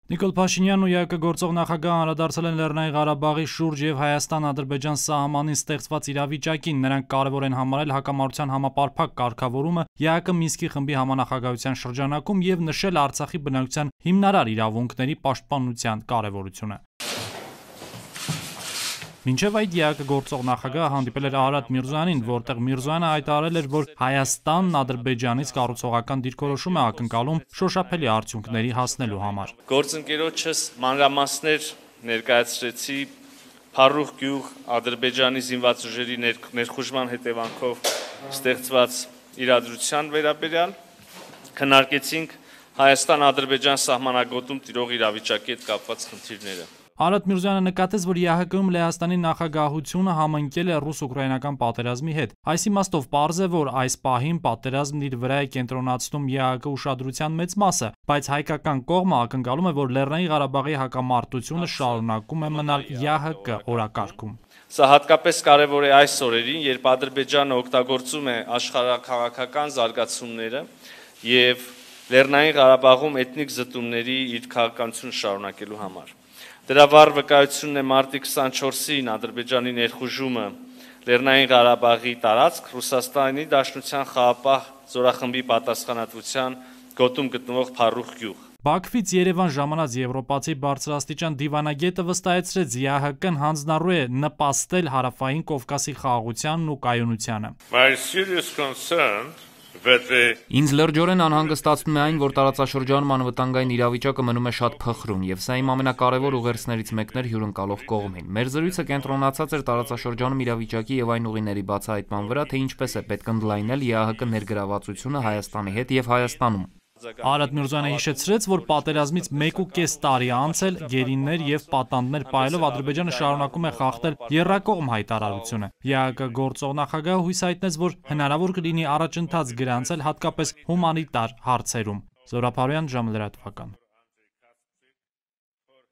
Նիկոլ Փաշինյանն ու ԵԱՀԿ գործող նախագահը անդրադարձել են Լեռնային Ղարաբաղի շուրջ եւ Հայաստան-Ադրբեջան սահմանին ստեղծված իրավիճակին։ Նրանք կարևոր են համարել հակամարտության համապարփակ կարգավորումը ԵԱՀԿ Մինսկի խմբի համանախագահության շրջանակում եւ նշել Արցախի բնակչության հիմնարար իրավունքների պաշտպանության կարևորությունը։ Մինչև այդ ԵԱՀԿ գործող նախագահը հանդիպել էր Արարատ Միրզոյանին, որտեղ Միրզոյանը հայտարարել էր, որ Հայաստանն Ադրբեջանից կառուցողական դիրքորոշում է ակնկալում շոշափելի արդյունքների հասնելու համար։ Գործընկերոջս մանրամասներ ներկայացրեցի Փարուխ գյուղ Ադրբեջանի զինված ուժերի ներխուժման հետևանքով ստեղծված իրադրության վերաբերյալ, քննարկեցինք Հայաստան-Ադրբեջան սահմանագոտում տիրող իրավիճակի հետ կապված խնդիրները։ Արարատ Միրզոյանը նկատեց, որ ԵԱՀԿ-ում Լեհաստանի նախագահությունը համընկել է ռուս-ուկրաինական պատերազմի հետ։ Այս իմաստով պարզ է, որ այս պահին պատերազմն իր վրա է կենտրոնացնում ԵԱՀԿ ուշադրության մեծ մասը, բայց հայկական կողմը ակնկալում է, որ Լեռնային Ղարաբաղի հակամարտությունը շարունակում է մնալ ԵԱՀԿ օրակարգում։ Սա հատկապես կարևոր է այս օրերին, երբ Ադրբեջանը օգտագործում է աշխարհաքաղաքական զարգացումները եւ Լեռնային Ղարաբաղում էթնիկ զտումների իր քաղաքականությունը շարունակելու համար։ Դրա վառ վկայությունն է մարտի 24-ին Ադրբեջանի ներխուժումը Լեռնային Ղարաբաղի տարածք Ռուսաստանի Դաշնության խաղաղապահ զորախմբի պատասխանատվության գոտում գտնվող Փարուխ գյուղ։ Բաքվից Երևան ժամանած եվրոպացի բարձրաստիճան դիվանագետը վստահեցրեց, ԵԱՀԿ-ն հանձնառու է նպաստել Հարավային Կովկասի խաղաղությանն ու կայունությանը։ Ինձ լրջորեն անհանգստացնում է այն, որ տարածաշրջանում անվտանգային իրավիճակը մնում է շատ փխրուն, եւ սա իմ ամենակարևոր ուղերձներից մեկն էր հյուրընկալող կողմին։ Մեր զրույցը կենտրոնացած էր տարածաշրջանում իրավիճակի եւ այն ուղիների բացահայտման վրա, թե ինչպես է պետք ընդլայնել ԵԱՀԿ ներգրավվածությունը Հայաստանի հետ եւ Հայաստանում։ Արարատ Միրզոյանը հիշեցրեց, որ պատերազմից 1.5 տարի անցել, գերիներ եւ պատանդներ պահելով Ադրբեջանը շարունակում է խախտել եռակողմ հայտարարությունը։ ԵԱՀԿ գործող նախագահը հույս հայտնեց, որ հնարավոր կլինի առաջընթաց գրանցել հատկապես հումանիտար հարցերում։ Զորապ Հարոյան, ժամը լրատվական։